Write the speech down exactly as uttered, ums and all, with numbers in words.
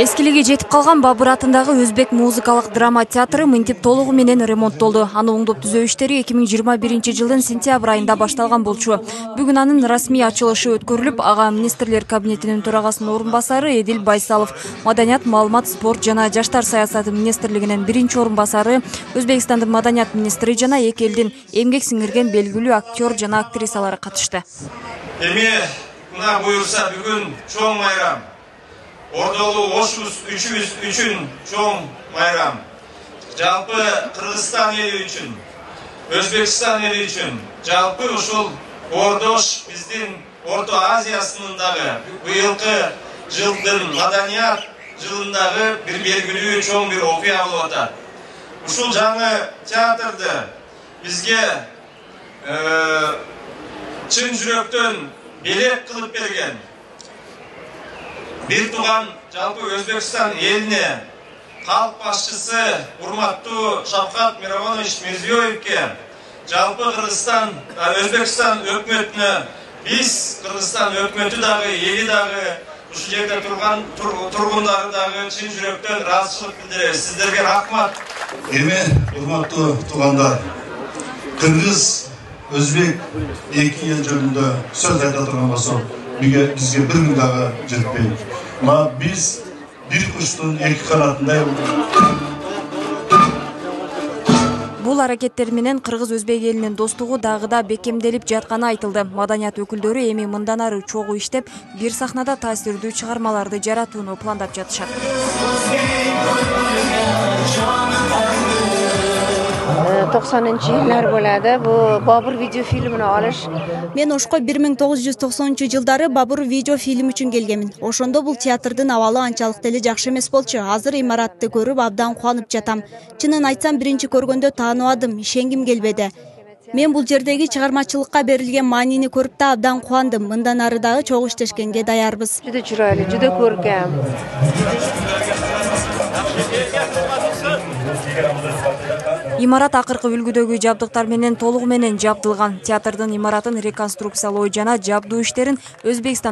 Эскилиги жетип калган Бабыр атындагы Өзбек музыкалык драма театры мынтип толугу менен ремонттолду. Аны оңдоп түзөө иштери эки миң жыйырма биринчи жылдын сентябрь айында башталган болчу. Бүгүн анын расмий ачылышы өткөрүлүп, ага министрлер кабинетинин төрагасынын орун басары Эдил Байсалов, Маданият, маалымат, спорт жана жаштар саясаты министрлигинин биринчи орун басары, Өзбекстандын маданият министри жана эки элдин эмгек сиңирген белгилүү актер жана актрисалары катышты. Эми мына буюрса бүгүн чоң майрам. Ордолуу ошубуз үчүбүз үчүн чоң майрам. Жалпы Кыргызстан эли үчүн, Өзбекстан эли үчүн, жалпы ушул Ордош биздин Орто Азиясынын дагы быйылкы жылдын маданият жылындагы бир белгилүү чоң бир окуя болуп атат. Ушул жаңы театрды бизге чын жүрөктөн белек кылып берген бир тууган жалпы Өзбекстан элине калк башчысы урматтуу Шавкат Миромонович Мирзиёевке, жалпы Кыргызстан, Өзбекстан өкмөтүнө, биз Кыргызстан өкмөтү дагы, эли дагы, ушул жерде турган тургундары дагы чын жүрөктөн ыраазычылык билдиребиз. Сиздерге рахмат. Эми урматтуу туугандар, Кыргыз, Өзбек эки эл жөнүндө сөз айта турган болсок, бизге бир миң дагы жетпейт. Ма биз бир куштун эки канатындай. Бул аракеттер менен Кыргыз-Өзбек элинин достугу дагы да бекемделип жатканы айтылды. Маданият өкүлдөрү эми мындан ары чогуу иштеп, бир сахнада таасирдүү чыгармаларды жаратууну пландап жатышат. токсонунчу жылдар болду. Бу Бабыр видео фильмин алыш. Мен Ошко бир миң тогуз жүз токсонунчу жылдары Бабыр видео фильм үчүн келгенмин. Ошондо бул театрдын абалы анчалык деле жакшы эмес болчу. Азыр имаратты көрүп абдан кубанып жатам. Чынын айтсам, биринчи көргөндө тааныбадым, ишенгим келбеди. Мен бул жердеги чыгармачылыкка берилген маанини көрүп да абдан кубандым. Мындан ары дагы чогуу иштешкенге даярбыз. Жуда чырайлуу, жуда көркөм. Имарат акыркы үлгүдөгү жабдыктар менен толугу менен жабдылган. Театрдын имаратын реконструкциялоо жана жабдуу иштерин Өзбекстан